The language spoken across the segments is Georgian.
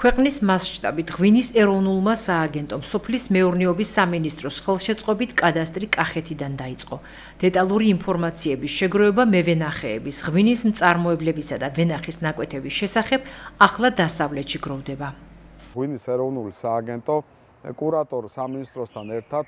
ქვეყნის მასშტაბით ღვინის ეროვნულმა სააგენტომ სოფლის მეურნეობის სამინისტროს ხელშეწყობით კადასტრი კახეთიდან დაიწყო. დეტალური ინფორმაციების შეგროვება მევენახეების, ღვინის მწარმოებლებისა და ვენახის ნაკვეთების შესახებ ახლა დასავლეთში გროვდება. ღვინის ეროვნული სააგენტო კურატორ სამინისტროსთან ერთად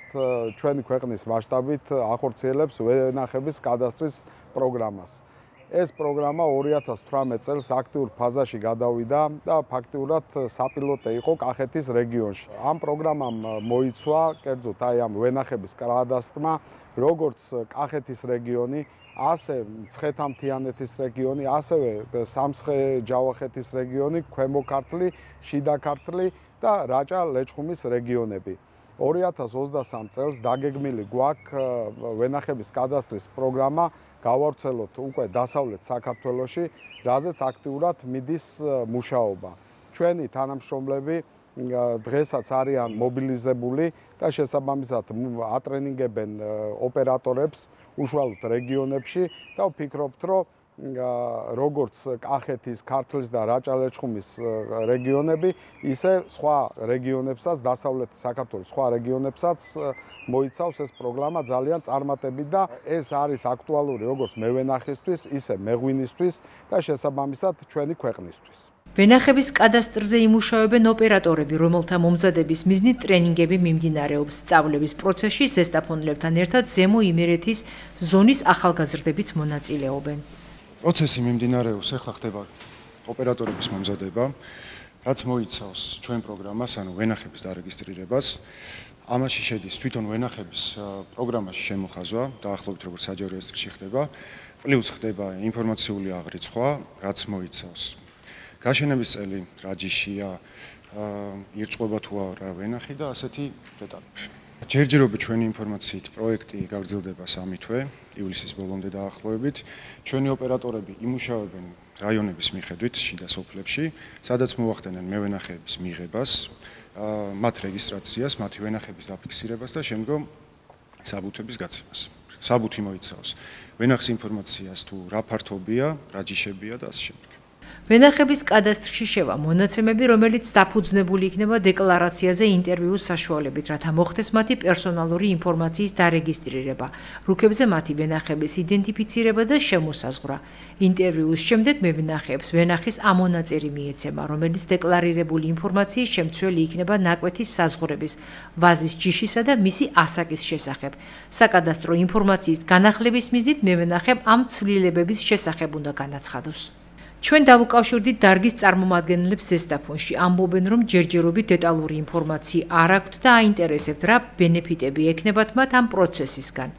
ჩვენი ქვეყნის მასშტაბით ახორციელებს ვენახების კადასტრის პროგრამას. ეს პროგრამა 2018 წელს აქტიურ ფაზაში გადავიდა და ფაქტიურად საპილოტე იყო კახეთის რეგიონში. ამ პროგრამამ მოიცვა კერძოდ ამ ვენახების კადასტრმა როგორც კახეთის რეგიონი, ასე მცხეთა-მთიანეთის რეგიონი, ასევე სამცხე-ჯავახეთის რეგიონი, ქვემო ქართლი, შიდა ქართლი და რაჭა-ლეჩხუმის რეგიონები. 2023 წელს დაგეგმილი გვაქვს ვენახების კადასტრის პროგრამა გავავრცელოთ უკვე დასავლეთ საქართველოში, რაზეც აქტიურად მიდის მუშაობა. ჩვენი თანამშრომლები დღესაც არიან მობილიზებული და შესაბამისად ატრენინგებენ ოპერატორებს უშუალოდ რეგიონებში და ვფიქრობთ, რომ როგორც კახეთის, ქართლის და რაჭა-ლეჩხუმის რეგიონები, ისე სხვა რეგიონებსაც, დასავლეთ საქართველოს სხვა რეგიონებსაც მოიცავს ეს პროგრამა ძალიან წარმატებით და ეს არის აქტუალური როგორც მევენახისთვის, ისე მეღვინისთვის და შესაბამისად ჩვენი ქვეყნისთვის. ვენახების კადასტრზე იმუშავებენ ოპერატორები, რომელთა მომზადების მიზნით ტრენინგები მიმდინარეობს. სწავლების პროცესში ზესტაფონლებთან ერთად ზემო იმერეთის ზონის ახალგაზრდებიც მონაწილეობენ. პროცესი მიმდინარეობს, ახლა ხდება ოპერატორების მომზადება, რაც მოიცავს ჩვენ პროგრამას, ანუ ვენახების დარეგისტრირებას. ამაში შედის თვითონ ვენახების პროგრამაში შემოხაზვა, დაახლოებით როგორც საჯარო რეესტრში ხდება, პლუს ხდება ინფორმაციული აღრიცხვა, რაც მოიცავს გაშენების წელი, რა ჯიშია, ირწყვება თუ არა ვენახი და ასეთი დეტალები. ჯერჯერობით ჩვენი ინფორმაციით პროექტი გაგრძელდება 3 თვე, ივლისის ბოლომდე დაახლოებით. ჩვენი ოპერატორები იმუშავებენ რაიონების მიხედვით შიდა სოფლებში, სადაც მოახდენენ მევენახეების მიღებას, მათ რეგისტრაციას, მათი ვენახების დაფიქსირებას და შემდგომ საბუთების გაცემას. საბუთი მოიცავს ვენახის ინფორმაციას თუ რა ფართობია, რა ჯიშებია და ასე შემდეგ. ვენახების კადასტრში შევა მონაცემები, რომელიც დაფუძნებული იქნება დეკლარაციაზე ინტერვიუს საშუალებით, რათა მოხდეს მათი პერსონალური ინფორმაციის დარეგისტრირება, რუკებზე მათი ვენახების იდენტიფიცირება და შემოსაზღვრა. ინტერვიუს შემდეგ მევენახეებს ვენახის ამონაწერი მიეცემა, რომელიც დეკლარირებული ინფორმაციის შემცველი იქნება ნაკვეთის საზღვრების, ვაზის ჯიშისა და მისი ასაკის შესახებ. საკადასტრო ინფორმაციის განახლების მიზნით მევენახემ ამ ცვლილებების შესახებ უნდა განაცხადოს. ჩვენ დავუკავშირდით დარგის წარმომადგენლებს ზესტაფონში, ამბობენ, რომ ჯერჯერობით დეტალური ინფორმაცია არ აქვთ და აინტერესებთ, რა ბენეფიტები ექნებათ მათ ამ პროცესისგან.